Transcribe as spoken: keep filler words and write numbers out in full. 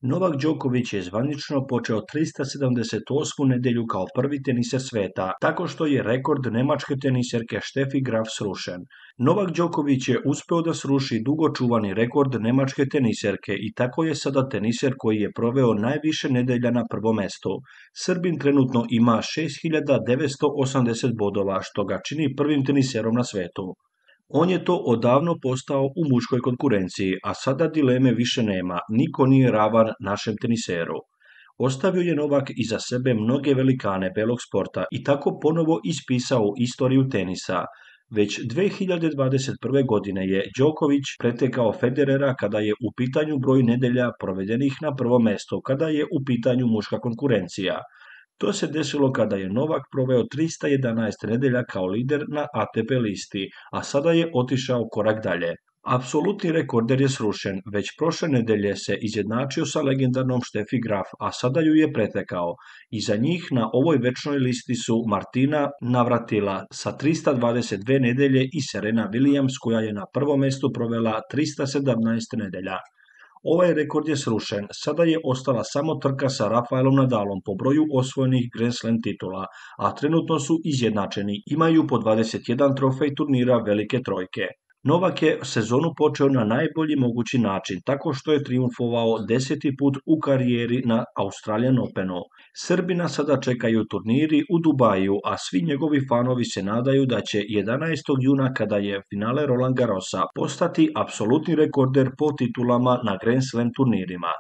Novak Đoković je zvanično počeo trista sedamdeset osmu nedjelju kao prvi teniser sveta, tako što je rekord nemačke teniserke Steffi Graf srušen. Novak Đoković je uspeo da sruši dugo čuvani rekord nemačke teniserke i tako je sada teniser koji je proveo najviše nedelja na prvom mestu. Srbin trenutno ima šest hiljada devetsto osamdeset bodova, što ga čini prvim teniserom na svetu. On je to odavno postao u muškoj konkurenciji, a sada dileme više nema, niko nije ravan našem teniseru. Ostavio je Novak iza sebe mnoge velikane belog sporta i tako ponovo ispisao istoriju tenisa. Već dve hiljade dvadeset prve. godine je Đoković pretekao Federera kada je u pitanju broj nedelja provedenih na prvo mesto, kada je u pitanju muška konkurencija. To se desilo kada je Novak proveo trista jedanaest nedelja kao lider na A T P listi, a sada je otišao korak dalje. Apsolutni rekorder je srušen, već prošle nedelje se izjednačio sa legendarnom Steffi Graf, a sada ju je pretekao. Iza njih na ovoj večnoj listi su Martina Navratilova sa trista dvadeset dve nedelje i Serena Williams koja je na prvom mestu provela trista sedamnaest nedelja. Ovaj rekord je srušen, sada je ostala samo trka sa Rafaelom Nadalom po broju osvojenih Grand Slam titula, a trenutno su izjednačeni, imaju po dvadeset jedan trofej turnira Velike trojke. Novak je sezonu počeo na najbolji mogući način, tako što je trijumfovao deseti put u karijeri na Australian Openu. Srbina sada čekaju turniri u Dubaju, a svi njegovi fanovi se nadaju da će jedanaestog juna kada je finale Roland Garrosa postati apsolutni rekorder po titulama na Grand Slam turnirima.